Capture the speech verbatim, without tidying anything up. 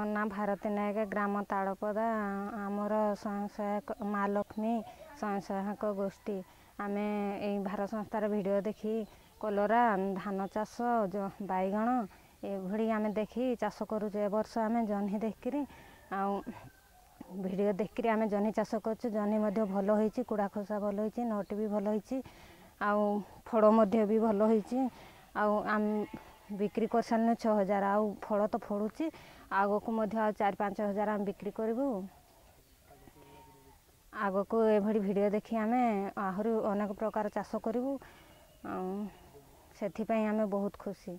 ମୋ ନାଁ ଭାରତୀ ନାୟକ, ଗ୍ରାମ ତାଳପଦା। ଆମର ସ୍ୱୟଂ ସହାୟକ ମା ଲକ୍ଷ୍ମୀ ସ୍ୱୟଂ ସହାୟକ ଗୋଷ୍ଠୀ। ଆମେ ଏଇ ଭାରତ ସଂସ୍ଥାର ଭିଡ଼ିଓ ଦେଖି କଲରା, ଧାନ ଚାଷ, ବାଇଗଣ ଏଭଳି ଆମେ ଦେଖି ଚାଷ କରୁଛୁ। ଏ ବର୍ଷ ଆମେ ଜହ୍ନି ଦେଖିକିରି ଆଉ ଭିଡ଼ିଓ ଦେଖିକିରି ଆମେ ଜହ୍ନି ଚାଷ କରୁଛୁ। ଜହ୍ନି ମଧ୍ୟ ଭଲ ହେଇଛି, କୁଡ଼ା ଖସା ଭଲ ହେଇଛି, ନଟି ବି ଭଲ ହେଇଛି, ଆଉ ଫଳ ମଧ୍ୟ ବି ଭଲ ହେଇଛି। ଆଉ ଆମେ ବିକ୍ରି କରିସାରିଲୁଣି ଛଅ ହଜାର, ଆଉ ଫଳ ତ ଫଳୁଛି। ଆଗକୁ ମଧ୍ୟ ଆଉ ଚାରି ପାଞ୍ଚ ହଜାର ଆମେ ବିକ୍ରି କରିବୁ। ଆଗକୁ ଏଭଳି ଭିଡ଼ିଓ ଦେଖି ଆମେ ଆହୁରି ଅନେକ ପ୍ରକାର ଚାଷ କରିବୁ, ଆଉ ସେଥିପାଇଁ ଆମେ ବହୁତ ଖୁସି।